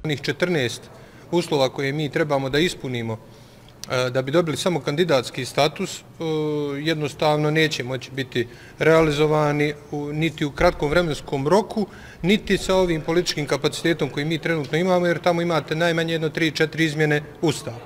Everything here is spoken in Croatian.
onih 14 uslova koje mi trebamo da ispunimo da bi dobili samo kandidatski status, jednostavno neće moći biti realizovani niti u kratkom vremenskom roku, niti sa ovim političkim kapacitetom koji mi trenutno imamo, jer tamo imate najmanje 3-4 izmjene Ustava.